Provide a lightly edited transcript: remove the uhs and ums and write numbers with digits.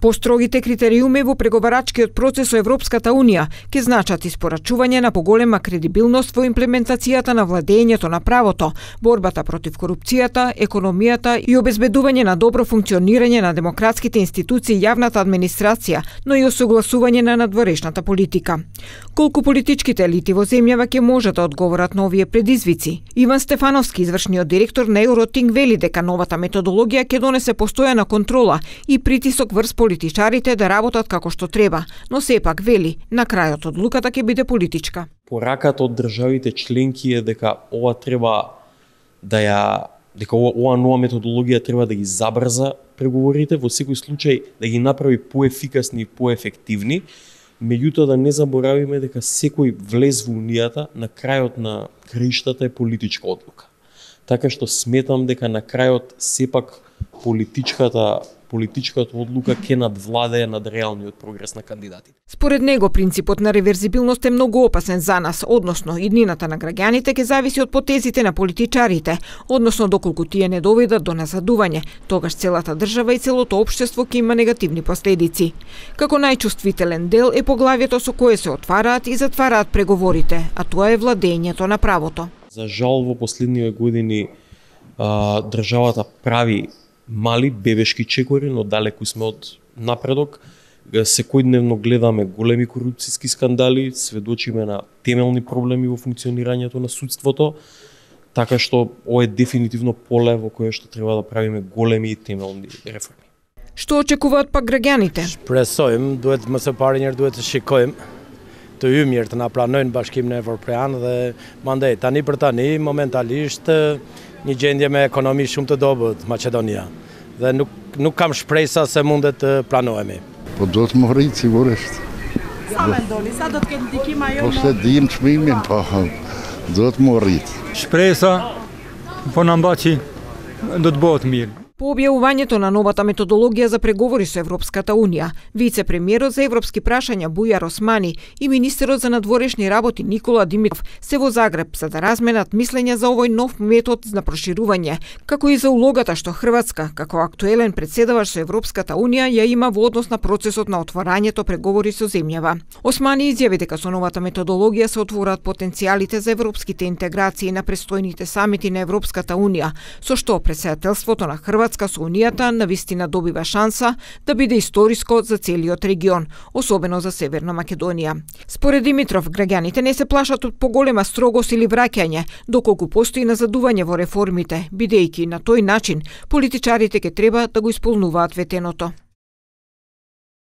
Построгите критериуми во преговарачкиот процес со Европската Унија ќе значат испорачување на поголема кредибилност во имплементацијата на владењето на правото, борбата против корупцијата, економијата и обезбедување на добро функционирање на демократските институции и јавната администрација, но и осогласување на надворешната политика. Колку политичките елити во земјава ќе можат да одговорат на овие предизвици? Иван Стефановски, извршниот директор на Евротинг, вели дека новата методологија ќе донесе постојана контрола и притисок врз политичарите да работат како што треба, но сепак вели, на крајот одлуката ќе биде политичка. Пораката од државите членки е дека ова нова методологија треба да ги забрза преговорите, во секој случај да ги направи поефикасни и поефективни, меѓутоа да не заборавиме дека секој влез во Унијата на крајот на краиштата е политичка одлука. Така што сметам дека на крајот сепак политичката одлука ќе надвладее над реалниот прогрес на кандидатите. Според него, принципот на реверзибилност е многу опасен за нас, односно иднината на граѓаните ќе зависи од потезите на политичарите, односно доколку тие не доведат до назадување, тогаш целата држава и целото општество ќе има негативни последици. Како најчувствителен дел е поглавјето со кое се отвараат и затвараат преговорите, а тоа е владењето на правото. За жал во последниве години државата прави мали бебешки чекори, но далеку сме од напредок. Секојдневно гледаме големи корупцијски скандали, сведочиме на темелни проблеми во функционирањето на судството, така што ова е дефинитивно поле во кое што треба да правиме големи и темелни реформи. Што очекуваат пак граѓаните? Shpresojmë, duhet më së pari njëherë duhet të shikojmë të ymjet të na pranojnë Bashkimin Evropian dhe mandej tani për tani momentalisht një gjendje me ekonomi shumë të dobët Maqedonia dhe nuk kam shpresa se mundet të pranohemi. Po do të më rritë sigurisht. Sa mendoni, sa do të ketë ndikim ajo? Po se dim çmimin, po do të më rritë. Shpresa po na mbaçi do të bëhet mirë. По објавувањето на новата методологија за преговори со Европската Унија, вице-премиерот за европски прашања Бујар Османи и министерот за надворешни работи Никола Димитров се во Загреб за да разменат мислења за овој нов метод на проширување, како и за улогата што Хрватска, како актуелен председавач со Европската Унија, ја има во однос на процесот на отворањето преговори со земјава. Османи изјави дека со новата методологија се отвораат потенцијалите за европските интеграции на престојните самити на Европската Унија, со што претседателството на Хрватска со Унијата навистина добива шанса да биде историско за целиот регион, особено за Северна Македонија. Според Димитров, граѓаните не се плашат од поголема строгост или враќање, доколку постои назадување во реформите, бидејќи на тој начин политичарите ќе треба да го исполнуваат ветеното.